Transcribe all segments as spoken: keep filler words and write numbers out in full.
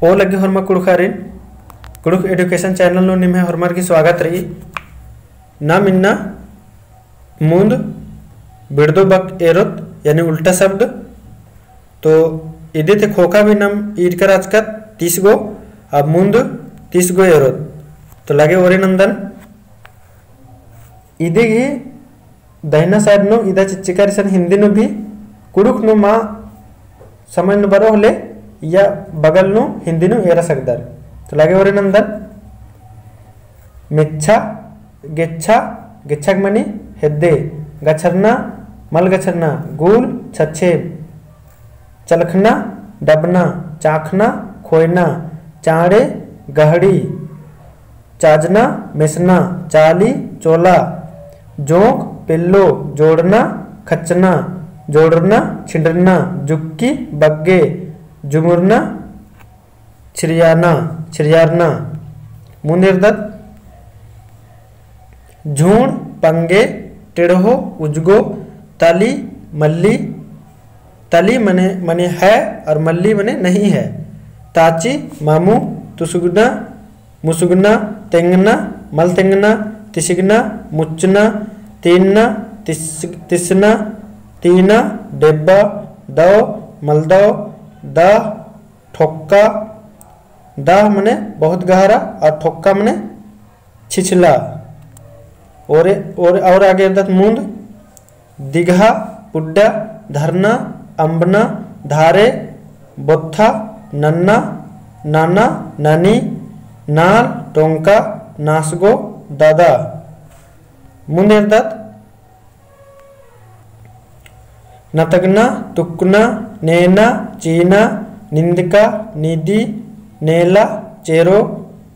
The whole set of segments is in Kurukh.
पो लग्गी होरमा कुँड़ुख़ारिन, कुँड़ुख़ education channel नू निम्है होरमर गही स्वागत रई। नाम इन्ना मुन्द बिड़दो बक एरोत, यानी उल्टा शब्द। तो इदी ती ख़ोख़ा भी नाम ईरका रहचकत तीस गो, अब मुन्द तीस गो एरोत। तो लगे ओरे नन्दन। इदी गही दहिना side नू इदा चिच्चिका रई, इसन हिन्दी नू भी कुँड़ुख़ नू मा समझ नू बरओ होले, या बगल नू हिन्दी नू एरा सकदर। तो लगे ओरे नन्दन। मेच्छा, गेच्छा, गेच्छा मनी हेद्दे, गछरना, मल गछरना, गुल, छछेब, चलखना, डबना, चाखना, खोयना, चाँड़े, गहड़ी, चाजना, मेसना, चाली, चोला, जोंक, पेल्लो, जोड़ना, खच्चना, जोड़रना, छिंडरना, जुक्की, बग्गे, जुमुरना, छिरियाना, छिरियारना। मुन्द एरदत। झूण, पंगे, टेढ़ो, उजगो, तली, मल्ली। तली मने, मने है और मल्ली मने नहीं है। ताची, मामू, तुसुगना, मुसुगना, तेंगना, मल तेंगना, तिसिगना, मुच्चना, तीनना, तिस-, तिसना, तीना, डेब्बा, दव, मलदव, दह, ठोक्का, दह मने बहुत गहरा और ठोक्का मने छिछला। और, और, और आगे एरदत मुन्द। दिगहा, पुड्डा, धरना, अम्बना, धारे, बोत्था, नन्ना, नाना, नानी, नाल, टोंका, नासगो, दादा। मुन्द एरदत। नतगना, तुकना, नेना, चीना, निंदका, नीदी, नेला, चेरो,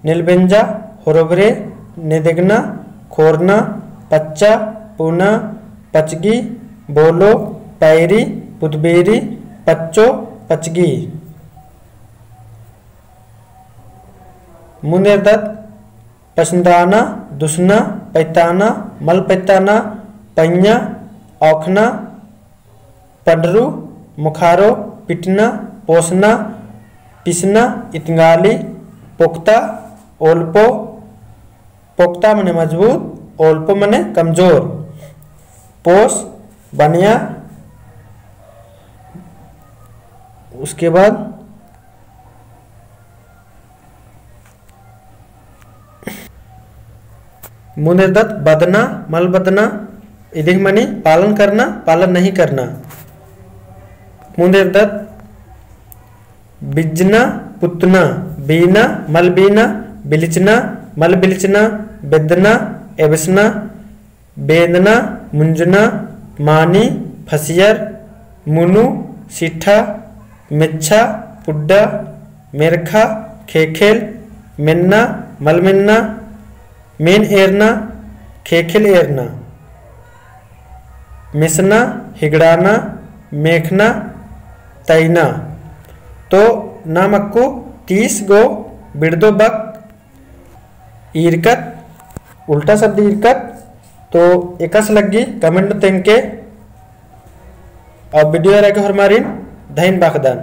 नेलबेंजा, होरभरे, नेदेगना, खोरना, पच्चा, पुना, पचगी, बोलो, पैरी, पुतबेरी, पच्चो, पचगी। मुन्द एरदत। पसंदाना, दुसना, पैताना, मल पैताना, पैया, औखना, पंडरू, मुखारो, पिटना, पोसना, पिसना, इतंगाली, पोक्ता, ओल्पो, पोक्ता मने मजबूत, ओल्पो मने कमजोर, पोस, बनिया। उसके बाद मुन्द एरदत बदना, मल बदना, इदिग मनी पालन करना, पालन नहीं करना। मुन्द एरदत बिजना, पुतना, बीना, मल बीना, बिलिचना, मल बिलिचना, बेदना, एबसना, बेंदना, मुंजना, मानी, फसियर, मुनु, सिठा, मेच्छा, पुड्डा, मेरखा, खेखेल, मेन्ना, मलमेन्ना, मेन एरना, खेखेल एरना, मेसना, हिगड़ाना, मेखना, तैना। तो नाम अक्कु तीस गो बिड़दो बक ईरकत, उल्टा शब्द ईरकत। तो एकासे लग्गी comment तेंगके। और video एरा गे होरमारिन धैन बाखदन।